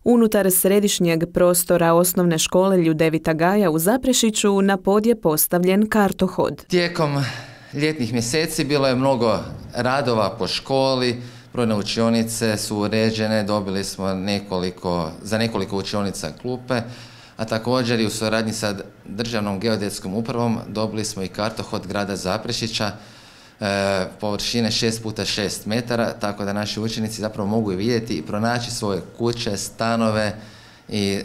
Unutar središnjeg prostora osnovne škole Ljudevita Gaja u Zaprešiću na pod je postavljen kartohod. Tijekom ljetnih mjeseci bilo je mnogo radova po školi, brojne učionice su uređene, dobili smo za nekoliko učionica klupe, a također i u suradnji sa Državnom geodetskom upravom dobili smo i kartohod grada Zaprešića površine 6x6 metara, tako da naši učenici zapravo mogu i vidjeti i pronaći svoje kuće, stanove i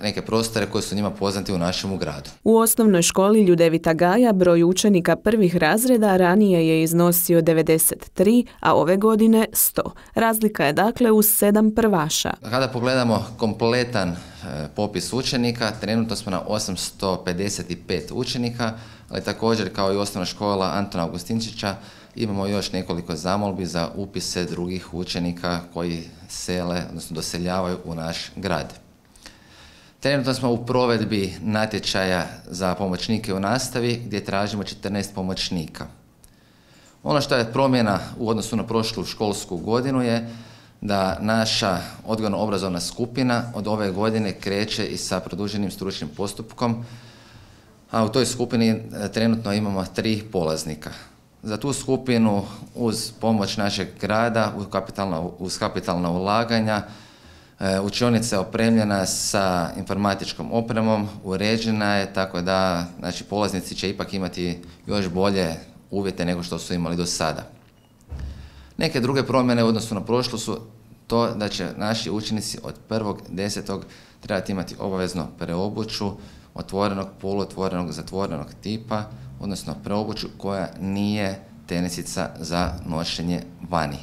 neke prostore koji su njima poznati u našemu gradu. U osnovnoj školi Ljudevita Gaja broj učenika prvih razreda ranije je iznosio 93, a ove godine 100. Razlika je dakle uz 7 prvaša. Kada pogledamo kompletan popis učenika, trenutno smo na 855 učenika, ali također kao i osnovna škola Antuna Augustinčića imamo još nekoliko zamolbi za upise drugih učenika koji sele, odnosno doseljavaju u naš grad. Trenutno smo u provedbi natječaja za pomoćnike u nastavi gdje tražimo 14 pomoćnika. Ono što je promjena u odnosu na prošlu školsku godinu je da naša odgojno-obrazovna skupina od ove godine kreće i sa produženim stručnim postupkom, a u toj skupini trenutno imamo 3 polaznika. Za tu skupinu uz pomoć našeg grada, uz kapitalna ulaganja, učionica je opremljena sa informatičkom opremom, uređena je tako da polaznici će ipak imati još bolje uvjete nego što su imali do sada. Neke druge promjene u odnosu na prošlu su to da će naši učenici od 1.10. trebati imati obavezno preobuću otvorenog, poluotvorenog, zatvorenog tipa, odnosno preobuću koja nije tenisica za nošenje vani.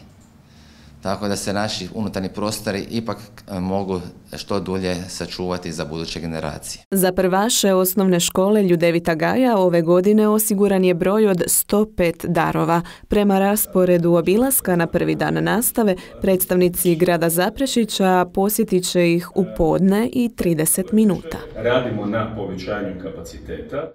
Tako da se naši unutarnji prostori ipak mogu što dulje sačuvati za buduće generacije. Za prvaše osnovne škole Ljudevita Gaja ove godine osiguran je broj od 105 darova. Prema rasporedu obilaska na prvi dan nastave, predstavnici grada Zaprešića posjetit će ih u podne i 30 minuta. Radimo na povećanju kapaciteta.